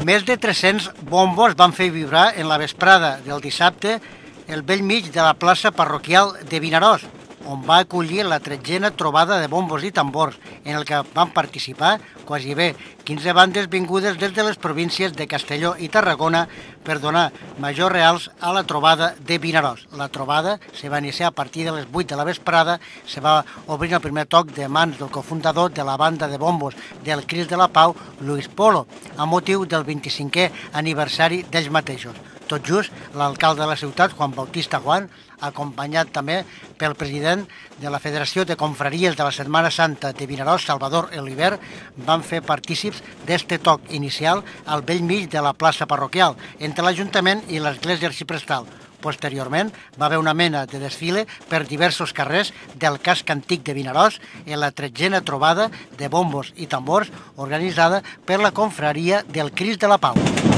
Més de 300 bombos van fer vibrar en la vesprada del dissabte el bell mig de la plaça parroquial de Vinaròs, on va acollir la 13a trobada de bombos i tambors, en el que van participar quasi bé 15 bandes vingudes des de les províncies de Castelló i Tarragona per donar majors reals a la trobada de Vinaròs. La trobada se va iniciar a partir de les 8 de la vesprada, se va obrir el primer toc de mans del cofundador de la banda de bombos del Crist de la Pau, Luis Polo, a motiu del 25è aniversari d'ells mateixos. Tot just, l'alcalde de la ciutat, Juan Bautista Juan, acompanyat també pel president de la Federació de Confraries de la Setmana Santa de Vinaròs, Salvador Oliver, van fer partícips d'este toc inicial al bell mig de la plaça parroquial, entre l'Ajuntament i l'Església Arxiprestal. Posteriorment, va haver una mena de desfile per diversos carrers del casc antic de Vinaròs en la 13a trobada de bombos i tambors organitzada per la confraria del Crist de la Pau.